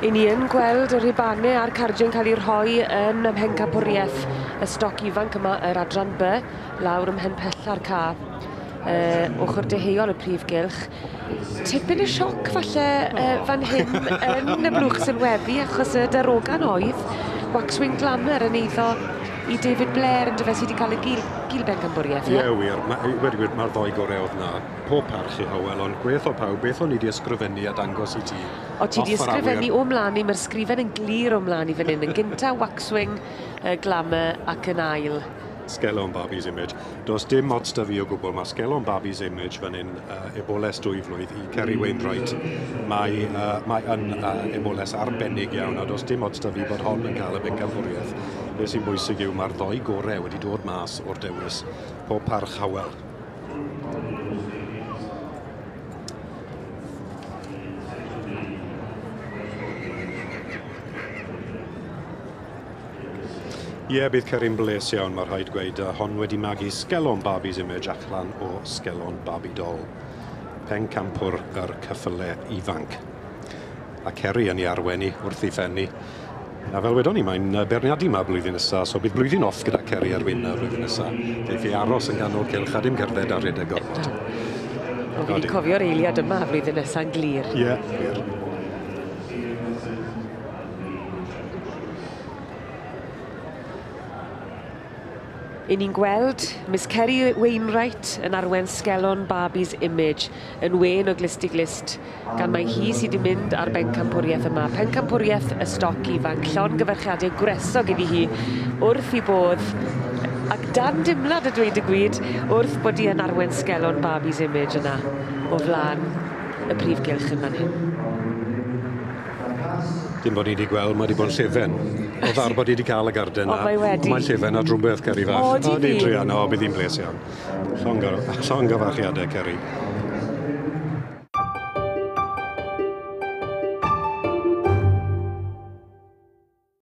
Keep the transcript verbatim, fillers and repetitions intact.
I ni yn gweld y rhubanau a'r cardiau'n cael eu rhoi yn ym mhencampwriaeth y stoc ifanc yma, yr adran B, lawr ym mhen pella'r ca, uh, ochr deheuol y prif gylch. Tipyn y sioc falle uh, fan hyn yn y blwch sylwebu, achos y darogan oedd Waxwing Glamour yn eiddo i David Blair yn dyfe sydd wedi cael y gil, gil bencampwriaeth. Ie, yeah, wir. Ma, wedi gwir, mae'r ddoi gorau oedd na. Pob parch i Hywel, ond gweth o pawb, beth o'n i wedi ysgrifennu a dangos i ti? O, ti wedi ysgrifennu o mlaen i, mae'r sgrifen yn glir o mlaen i fan hyn. Yn gynta Waxwing uh, Glamour ac yn ail Skelon Barbie's Image. Does dim ots da fi o gwbl, mae Skelon Barbie's Image fan hyn, uh, eboles dwy flwydd i Kerry Wainwright. Mae, uh, mae yn uh, eboles arbennig iawn, a does dim ots da fi bod hon yn cael y bencampwriaeth. Be sy'n bwysig yw mae'r ddoi gorau wedi dod mas o'r dewis. Pob parch Hywel. Ie, yeah, bydd Kerry'n bles iawn, mae rhaid gweud. Hon wedi magu Skelon Barbie's Image allan o Skelon Barbie Doll. Pencampwr yr cyffyle ifanc. A Kerry yn ei arwen i wrth ei phenni. A fel wedon ni, mae'n beirniadu yma blwyddyn nesaf, so bydd blwyddyn off gyda Kerry ar wyn blwyddyn nesaf. Geiff ei aros yn ganol cylch a dim cerdded a rhedeg gormod. O, fi wedi cofio'r eiliad yma flwyddyn nesa'n glir. Ie, yeah, wir. I ni'n gweld Miss Kerry Wainwright yn arwen Skelon Barbie's Image yn wen o glust i glust, gan mai hi sydd wedi mynd ar bencampwriaeth yma. Pencampwriaeth y stoc ifanc, llongyfarchiadau gwresog iddi hi wrth i bodd, ac dan dimlad a dweud y gwir, wrth bod hi yn arwen Skelon Barbie's Image yna o flaen y prif gylch yn fan hyn. Dim bod ni wedi gweld, mae wedi bod yn llefen. O ddar bod ni wedi cael y garden na. O, mae wedi. Mae'n llefen a drwbeth, Kerry fach. O, di fi. O, druan, o, bydd hi'n bles iawn. Llongyfarchiadau, Kerry.